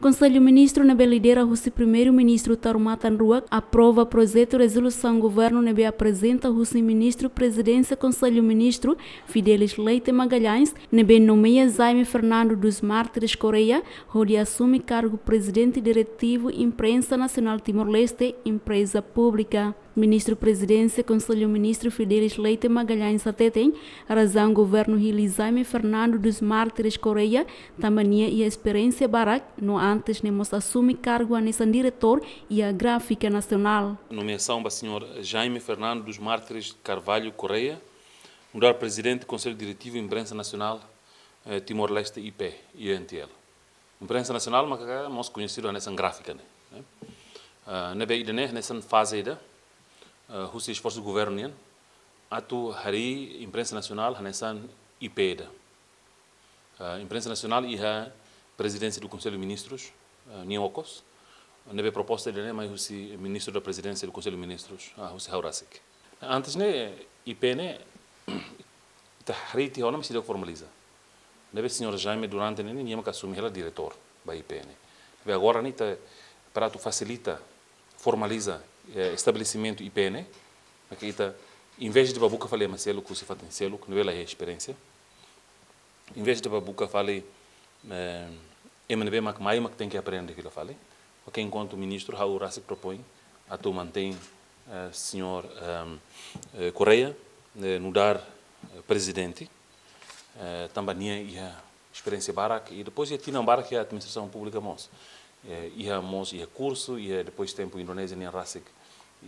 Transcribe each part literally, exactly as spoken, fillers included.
Konsellu Ministru ne'ebé lidera husi Primeiru-Ministru Taur Matan Ruak aprova projetu rezolusaun governu ne'ebé aprezenta husi Ministru Prezidénsia Konsellu Ministru Fidelis Leite Magalhães, ne'ebé nomeia Jaime Fernando dos Mártires Correia hodi asume kargu Prezidente Diretivu Imprensa Nasionál Timor-Leste, Empreza Públika. Ministru Prezidénsia Konsellu Ministru Fidelis Leite Magalhães hateten, razaun governu hili Jaime Fernando dos Mártires Correia tanba nia iha esperiénsia barak, no antes ne'e mós asume kargu hanesan diretór iha Gráfika Nasionál. Nomeasaun ba señór Jaime Fernando dos Mártires Carvalho Correia nu'udar Prezidente Konsellu Diretivu Imprensa Nasionál, eh, Timor-Leste, I P, I N T L. Imprensa Nasionál maka mós koñesidu hanesan Gráfika ne'e, eh. Ah, ne'ebé ida-ne'e hanesan faze ida, ah, husi esforsu governu nian atu harii Imprensa Nasionál hanesan I P ida. Ah, Imprensa Nasionál iha Prezidénsia do Konsellu Ministrus, ah, nian okos, ne'ebé proposta ida-ne'e mai husi Ministru da Prezidénsia do Konsellu Ministrus, ah, husi ha'u rasik. Antes ne'e, I P ne'e, ita harii tiha ona, mas seidauk formaliza. Ne'ebé señór Jaime durante ne'e, nia maka asume hela diretór ba I P ne'e. Ne'ebé agora ne'e ita, para atu fasilita, formaliza, eh, estabelesimentu I P ne'e, maka ita, envezde bá buka fali ema seluk, husi fatin seluk, ne'ebé la iha esperiénsia, envezde bá buka fali, eh, ema ne'ebé mak mai mak tenke aprende fila fali. Oke, enkuantu ministru, ha'u rasik propoin atu mantein, eh, señór, ehm, eh, Correia, eh, nu'udar, eh, prezidente, eh, tanba nia iha esperiénsia barak, i depois iha tinan barak iha administrasaun públika mós. Eh, iha mós, iha kursu, iha depois tempu Indonézia nian rasik,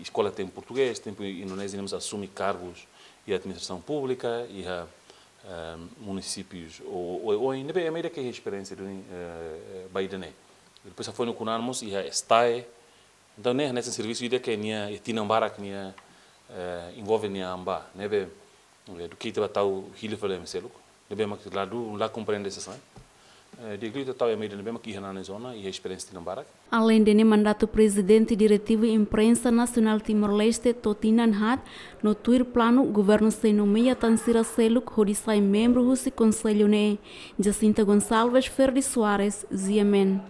eskola tempu portugés, tempu Indonézia nian mós asume kargus iha administrasaun públika, iha, eh, munisípius, o, o, o, ne'ebé ema ida ke iha esperiénsia duni, eh, ba ida-ne'e. Depois hafoin no kunan mós iha STAE. Entaun, ne'e, hanesan servisu ida ke nia, iha tinan barak nia, eh, envolve nia an ba, ne'ebé, eh, duké ita bá tau hili fali ema seluk, ne'ebé mak la du, la komprende sasán. Eh, di'ak liu ita tau ema ida ne'ebé mak iha ona zona, iha esperiénsia tinan barak. Aleinde ne'e, mandatu Prezidente Diretivu Imprensa Nasionál Timor-Leste to'o tinan haat, no tuir planu governu sei nomeia tan sira seluk hodi sai membru husi konsellu ne'e. Jacinta Gonçalves, Ferdi Soares, G M N.